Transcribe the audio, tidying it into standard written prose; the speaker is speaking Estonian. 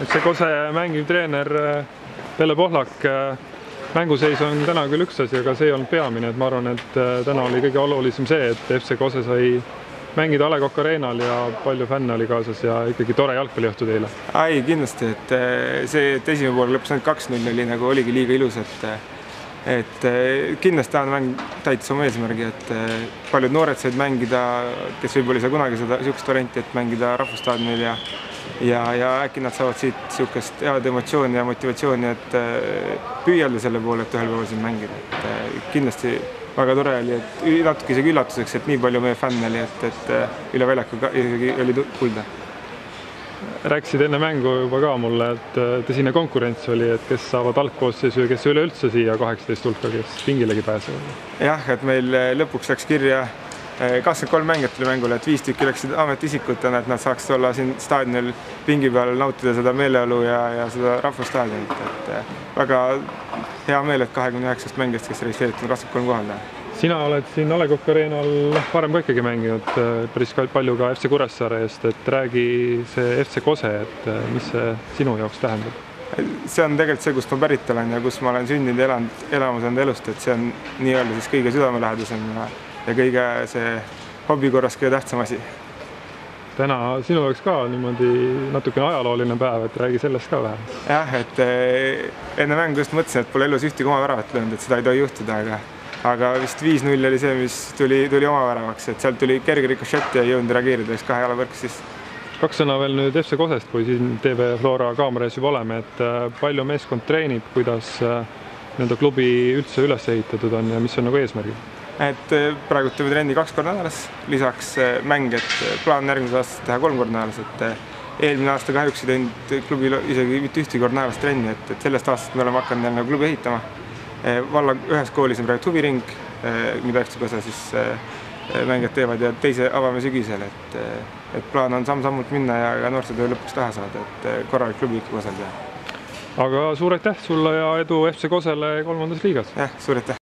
FC Kose mängiv treener Pelle Pohlak, mänguseis on täna küll üks asi, aga see ei olnud peamine, et ma arvan, et täna oli kõige olulisem see, et FC Kose sai mängida A. Le Coq Arenal ja palju fänne oli kaasas ja ikkagi tore jalgpalliõhtu teile. Ei, kindlasti, et see, et esimene pool lõppes ainult 2-0 oli nagu oligi liiga ilus, et kindlasti tahan mäng täitis oma eesmärgi, et paljud noored said mängida, kes võib-olla ei saa kunagi seda niisugust varianti, et mängida rahvusstaadionil ja äkki nad saavad siit niisugust head emotsiooni ja motivatsiooni, et püüelda selle poole, et ühel päeval siin mängida. Et kindlasti väga tore oli, et natuke isegi üllatuseks, et nii palju meie fänne oli, et üle väljaku isegi oli kuulda. Rääkisid enne mängu juba ka mulle, et tõsine konkurents oli, et kes saavad algkoosseisu ja kes üleüldse siia 18 hulka, kes pingilegi pääsevad. Jah, et meil lõpuks läks kirja 23 mängijat tuli mängule, et 5 tükki läksid ametiisikutena, et nad saaks olla siin staadionil pingi peal nautida seda meeleolu ja seda rahvusstaadionit. Et väga hea meel, et 29 mängijast, kes registreeritud 23 kohal. Sina oled siin A. Le Coq Arenal varem ka ikkagi mänginud päris palju ka FC Kuressaare eest, et räägi see FC Kose, et mis see sinu jaoks tähendab? See on tegelikult see, kust ma pärit olen ja kus ma olen sündinud ja elamas enda elust, et see on nii-öelda siis kõige südamelähedasem ja kõige see hobi korras kõige tähtsam asi. Täna sinu jaoks ka niimoodi natukene ajalooline päev, et räägi sellest ka vähem. Jah, et enne mängu just mõtlesin, et pole elus ühtegi oma väravat löönud, et seda ei tohi juhtuda, aga vist 5-0 oli see, mis tuli oma väravaks, et sealt tuli kerge rikošett ja ei jõudnud reageerida, vist 2 jala võrk siis. 2 sõna veel nüüd FC Kosest, kui siin TV Flora kaameraes juba oleme, et palju meeskond treenib, kuidas nende klubi üldse üles ehitatud on ja mis on nagu eesmärgid? Et praegu teeme trenni 2 korda nädalas, lisaks mäng, et plaan järgmise aastast teha 3 korda nädalas, et eelmine aasta kahjuks ei teinud klubil isegi mitte ühtegi korda nädalas trenni, et sellest aastast me oleme hakanud jälle klubi ehitama. Valla ühes koolis on praegu huviring, mida FC Kose siis mängijad teevad ja teise avame sügisel, et plaan on samm-sammult minna ja noorsootöö lõpuks taha saada, et korralik klubi ikka Kosel teha. Aga suur aitäh sulle ja edu FC Kosele 3. liigas! Jah, suur aitäh!